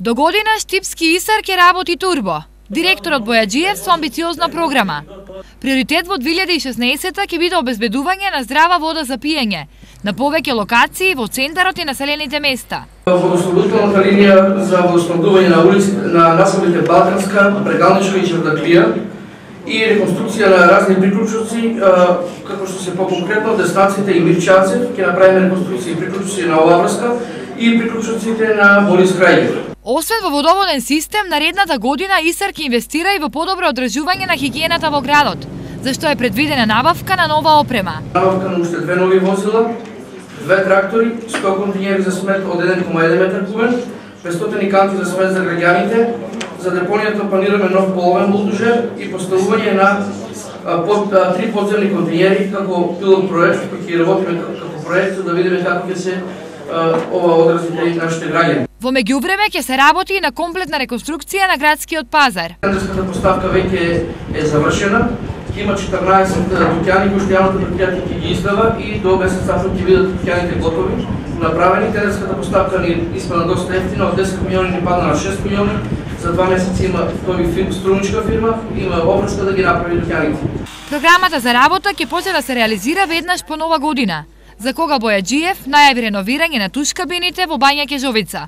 До година Штипски ИСАР ќе работи турбо. Директорот Бојаджиев со амбициозна програма. Приоритет во 2016 ќе биде обезбедување на здрава вода за пиење на повеќе локации во центарот и населените места. Водоснабдителната линија за водоснабдување на улиците на населбите Балканска, Брегалничка и Чевдаклија и реконструкција на разни приклучоци, како што се по-конкретно Деснаците и Мирчанцев, ќе направиме реконструкција и приклучоци на оваа врска и приклучоците на Борис Крајгер. Освен во водоводен систем, наредната година ИСАР ќе инвестира и во подобро одржување на хигиената во градот, зашто е предвидена набавка на нова опрема. Набавка на уште 2 нови возила, 2 трактори, 100 континери за смет од 1,1 метар кубен, 500 канти за смет за граѓаните. За депонијата планираме нов половен булдожер и поставување на 3 подземни континери како пилот проект, кој ќе работиме како проект за да видиме како ќе се ова одразите и нашите граѓани. Во меѓувреме ќе се работи и на комплетна реконструкција на градскиот пазар. Тендерската поставка веќе е завршена. Има 14 дуќани кои што јавното претпријатие ќе ги издава и до месец април ќе бидат дуќаните готови, направени. Тендерската поставка ни испадна доста ефтина, од 10 милиони ни падна на 6 милиони. За 2 месеци има струничка фирма, има обврска да ги направи дуќаните. Програмата за работа ќе почне да се реализира веднаш по нова година, за кога Бојаджиев најави реновирање на туш кабините во Бања Ќежовица.